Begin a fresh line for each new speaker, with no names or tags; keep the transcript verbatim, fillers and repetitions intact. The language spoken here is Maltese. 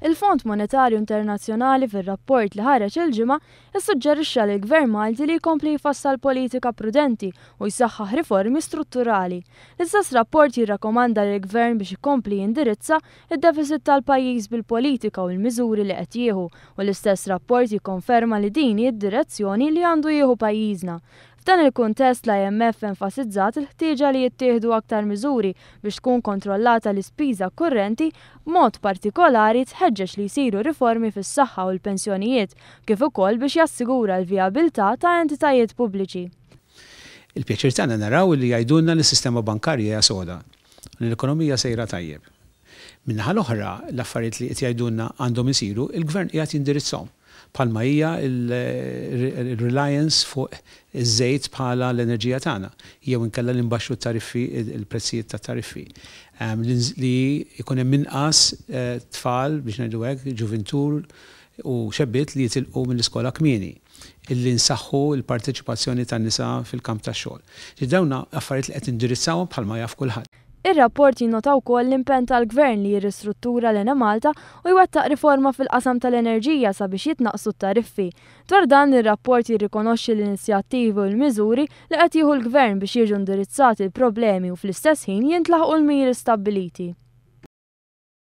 Il-Fond Monetarju Internazzjonali fir-rapport li ħareġ il-Ġimgħa issuġġerixxa lill-Gvern Malti li jkompli jfassal politika prudenti u jsaħħaħ riformi strutturali. L-istess rapport jirrakkomanda lill-Gvern biex ikompli jindirizza id-deficit tal-pajjiż bil-politika u l-miżuri li qed jieħu, u l-istess rapport jikkonferma li din hi d-direzzjoni li għandu jieħu pajjiżna. F'dan il-kuntest, l-I M F enfasizzat il-ħtieġa li jittieħdu aktar miżuri biex tkun kontrollata l-ispiża kurrenti, b'mod partikolari tħeġġeġ li jsiru riformi fis-saħħa u l-pensjonijiet, kif ukoll biex jassigura l-vijabilità ta' entitajiet pubbliċi.
Il-pjaċir tagħna naraw li jgħidulna li s-sistema bankarja hija soda, li l-ekonomija sejra tajjeb. Min-naħa l-oħra, l-affarijiet li qed jgħidulna għandhom isiru, il-gvern qiegħed jindirizzhom, bħalma hija il-reliance fuq iż-żejt bħala l-enerġija tagħna, jew inkella li nbaxxu tariffi, il-prezzijiet ta' tariffi. Li jkun hemm inqas eh, tfal, biex ngħidu hekk, ġuvintur u xebbiet li jitilqu mill-iskola kmieni, illi nsaħħu l-parteċipazzjoni tan-nisa fil-kamp tax-xogħol. Dawn affarijiet li qed indirizzawhom, bħalma jaf kulħadd.
Ir-rapport jinnota wkoll l-impenn tal-Gvern li jirristruttura l-Enemalta u jwettaq riforma fil-qasam tal-enerġija sabiex jitnaqsu t-tariffi. Dwar dan, ir-rapport jirrikonoxxi l-inizjattivi u l-miżuri li qed jieħu l-Gvern biex jiġu indirizzati l-problemi u fl-istess ħin jintlaħqu l-miri stabbiliti.